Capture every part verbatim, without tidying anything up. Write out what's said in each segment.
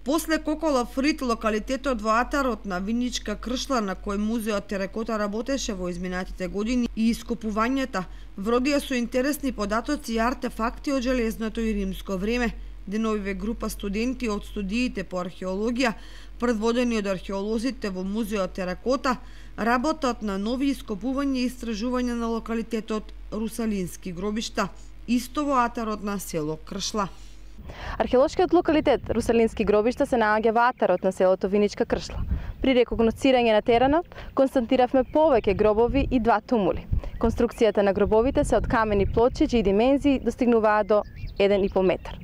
После Коколов рит, локалитетот во атарот на Виничка Кршла, на кој музеот Терекота работеше во изминатите години, и ископувањата вродија со интересни податоци и артефакти од железното и римско време. Деновиве група студенти од студиите по археологија, предводени од археолозите во музеот Терекота, работат на нови ископувања и истражувања на локалитетот Русалински гробишта, исто во атарот на село Кршла. Археолошкиот локалитет Русалински гробишта се наоѓа во атарот на селото Виничка Кршла. При рекогносцирање на теренот констатиравме повеќе гробови и два тумули. Конструкцијата на гробовите се од камени плочи чии димензии достигнуваат до еден и пол метар.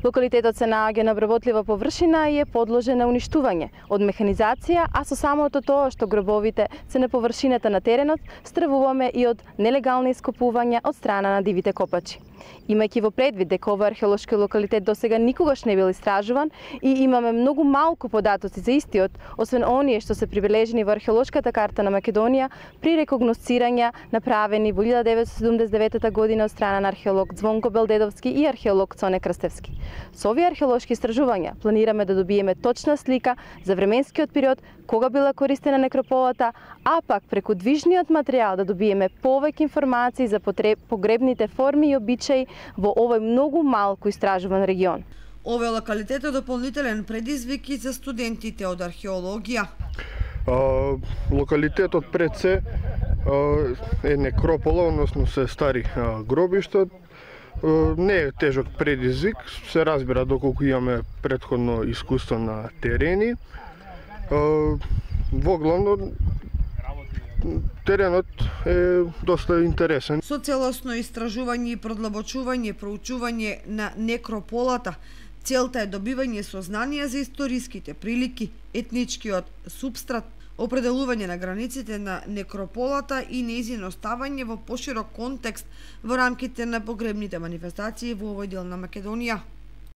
Локалитетот се наоѓа на обработлива површина и е подложен на уништување од механизација, а со самото тоа што гробовите се на површината на теренот, стравуваме и од нелегални ископувања од страна на дивите копачи. Имајќи во предвид дека овој археолошки локалитет досега никогаш не бил истражуван и имаме многу малку податоци за истиот, освен оние што се прибележени во археолошката карта на Македонија при рекогносцирања направени во илјада деветстотини седумдесет и девета година од страна на археолог Звонко Белдедовски и археолог Цоне Крстевски. Со овие археолошки истражувања планираме да добиеме точна слика за временскиот период кога била користена некрополата, а пак преку движниот материјал да добиеме повеќе информации за погребните форми и обичаи во овој многу малку истражуван регион. Овој локалитет е дополнителен предизвик и за студентите од археологија. А, локалитетот пред се а, е некропола, односно се стари а, гробишта. А, не е тежок предизвик, се разбира доколку имаме претходно искуство на терени. А, во главно теренот е доста интересен. Со целосно истражување и продлабочување, проучување на некрополата, целта е добивање сознанија за историските прилики, етничкиот супстрат, определување на границите на некрополата и нејзино ставање во поширок контекст во рамките на погребните манифестации во овој дел на Македонија.